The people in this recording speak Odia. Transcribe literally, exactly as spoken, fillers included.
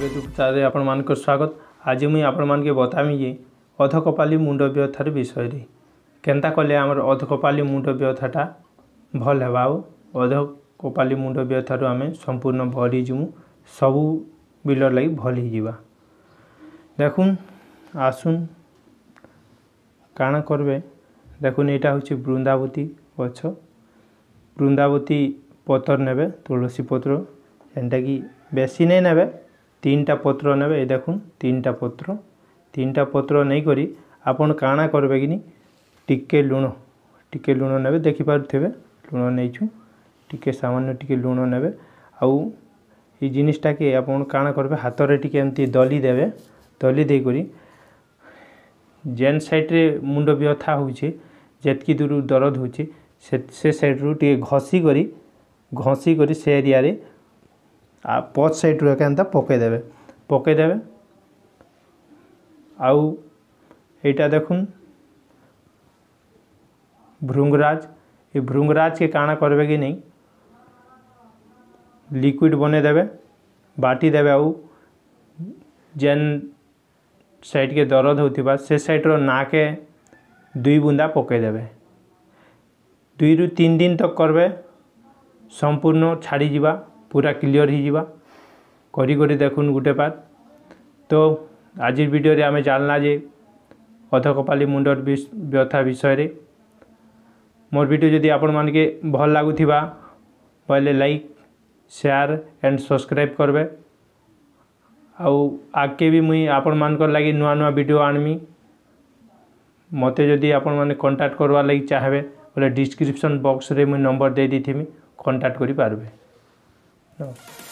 ଆୟୁର୍ବେଦ ଉପଚାରରେ ଆପଣମାନଙ୍କର ସ୍ୱାଗତ। ଆଜି ମୁଇଁ ଆପଣମାନକେ ବତାମି ଯେ ଅଧକପାଲି ମୁଣ୍ଡ ବ୍ୟଥାର ବିଷୟରେ, କେନ୍ତା କଲେ ଆମର ଅଧକପାଲି ମୁଣ୍ଡ ବ୍ୟଥାଟା ଭଲ୍ ହେବା ଆଉ ଅଧକପାଲି ମୁଣ୍ଡ ବ୍ୟଥାରୁ ଆମେ ସମ୍ପୂର୍ଣ୍ଣ ଭଲ୍ ହେଇଯିମୁ, ସବୁ ବିଲର ଲାଗି ଭଲ୍ ହେଇଯିବା। ଦେଖୁନ୍, ଆସୁନ୍ କାଣା କରବେ। ଦେଖୁନ୍, ଏଇଟା ହେଉଛି ବୃନ୍ଦାବତୀ ଗଛ। ବୃନ୍ଦାବତୀ ପତର ନେବେ, ତୁଳସୀ ପତ୍ର ଯେନ୍ଟାକି ବେଶୀ ନେଇ ନେବେ, ତିନିଟା ପତ୍ର ନେବେ। ଏଇ ଦେଖୁନ୍, ତିନିଟା ପତ୍ର। ତିନିଟା ପତ୍ର ନେଇକରି ଆପଣ କାଣା କରିବେ କିନି, ଟିକେ ଲୁଣ, ଟିକେ ଲୁଣ ନେବେ। ଦେଖିପାରୁଥିବେ, ଲୁଣ ନେଇଛୁ, ଟିକେ ସାମାନ୍ୟ ଟିକେ ଲୁଣ ନେବେ। ଆଉ ଏଇ ଜିନିଷଟାକେ ଆପଣ କାଣା କରିବେ, ହାତରେ ଟିକେ ଏମିତି ଦଲି ଦେବେ। ଦଲି ଦେଇକରି ଯେନ୍ ସାଇଡ଼୍ରେ ମୁଣ୍ଡ ବ୍ୟଥା ହେଉଛି, ଯେତ୍କି ଦୂର ଦରଦ ହେଉଛି, ସେ ସେ ସାଇଡ଼୍ରୁ ଟିକେ ଘଷି କରି ଘଷି କରି ସେ ଏରିଆରେ ଆଉ ପଛ ସାଇଡ଼୍ରୁ ଏକା ଏନ୍ତା ପକେଇଦେବେ, ପକେଇଦେବେ। ଆଉ ଏଇଟା ଦେଖୁନ୍, ଭୃଙ୍ଗରାଜ। ଏ ଭୃଙ୍ଗରାଜକେ କାଣା କରିବେ କି ନେଇ, ଲିକ୍ୱିଡ଼ ବନେଇଦେବେ, ବାଟି ଦେବେ ଆଉ ଯେନ୍ ସାଇଡ଼୍କେ ଦରଦ ହେଉଥିବା ସେ ସାଇଡ଼୍ର ନାକେ ଦୁଇ ବୁନ୍ଦା ପକେଇଦେବେ। ଦୁଇରୁ ତିନି ଦିନ ତକ୍ କରବେ, ସମ୍ପୂର୍ଣ୍ଣ ଛାଡ଼ିଯିବା, ପୁରା କ୍ଲିଅର୍ ହେଇଯିବା। କରି କରି ଦେଖୁନ୍ ଗୁଟେ ପାର୍। ତ ଆଜିର ଭିଡ଼ିଓରେ ଆମେ ଜାଣିଲା ଯେ ଅଧକପାଲି ମୁଣ୍ଡର ବ୍ୟଥା ବିଷୟରେ। ମୋର୍ ଭିଡ଼ିଓ ଯଦି ଆପଣମାନକେ ଭଲ୍ ଲାଗୁଥିବା ବୋଇଲେ ଲାଇକ୍, ସେୟାର ଆଣ୍ଡ ସବସ୍କ୍ରାଇବ୍ କରବେ। ଆଉ ଆଗକେ ବି ମୁଇଁ ଆପଣମାନଙ୍କର ଲାଗି ନୂଆ ନୂଆ ଭିଡ଼ିଓ ଆଣମି। ମୋତେ ଯଦି ଆପଣମାନେ କଣ୍ଟାକ୍ଟ କରବାର୍ ଲାଗି ଚାହେଁବେ ବୋଲେ ଡିସ୍କ୍ରିପସନ୍ ବକ୍ସରେ ମୁଇଁ ନମ୍ବର ଦେଇ ଦେଇଥିମି, କଣ୍ଟାକ୍ଟ କରିପାରିବେ। ନମସ୍କାର।